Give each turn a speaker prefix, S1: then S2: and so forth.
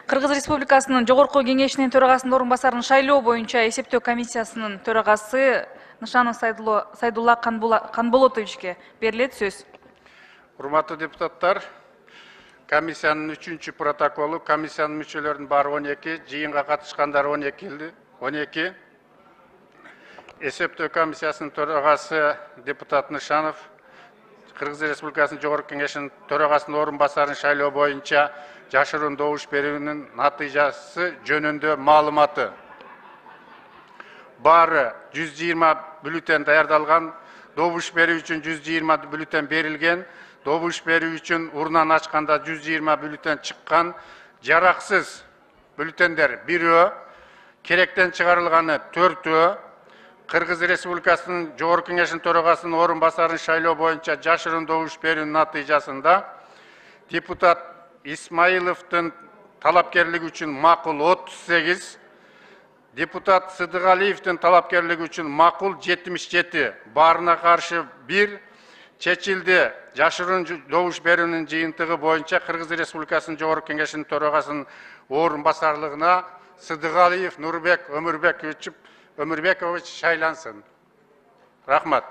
S1: Кыргыз Республикасынын Жогорку Кеңешинин төрагасынын орун-басарынын шайлоо боюнча эсептөө комиссиясынын төрагасы Нышанов Сайдулла Канболотовичке берилет сөз.
S2: Урматтуу депутаттар, комиссиянын 3-чү протоколу, комиссиянын мүчөлөрүнүн баары 12, жыйынга катышкандар 12. Эсептөө комиссиясынын төрагасы депутат Нышанов, Кыргыз Республикасынын Жогорку Кеңешинин төрагасынын орун-басарын шайлоо боюнча жашыруун добуш берүүнүн натыйжасы жөнүндө маалыматы. Баары 120 бюллетен даярдалган, добуш берүү үчүн 120 бюллетен берилген, добуш берүү үчүн урнан ачканда 120 бюллетен чыккан, жараксыз бюллетендер 1, керектен чыгарылганы 4, Кыргыз Республикасынын Жогорку Кеңешинин төрагасынын орун-басарын шайлоо боюнча жашыруун добуш берүүнүн натыйжасында депутат Исмаиловдун талапкерлиги үчүн макул 38, депутат Сыдыгалиевдин талапкерлиги үчүн макул 77, баарына каршы 1 чечилди. Жашыруун добуш берүүнүн жыйынтыгы боюнча Кыргыз Республикасынын Жогорку Кеңешинин төрагасынын орун-басарлыгына Сыдыгалиев Нурбек Өмүрбекович шайлансын. Рахмат.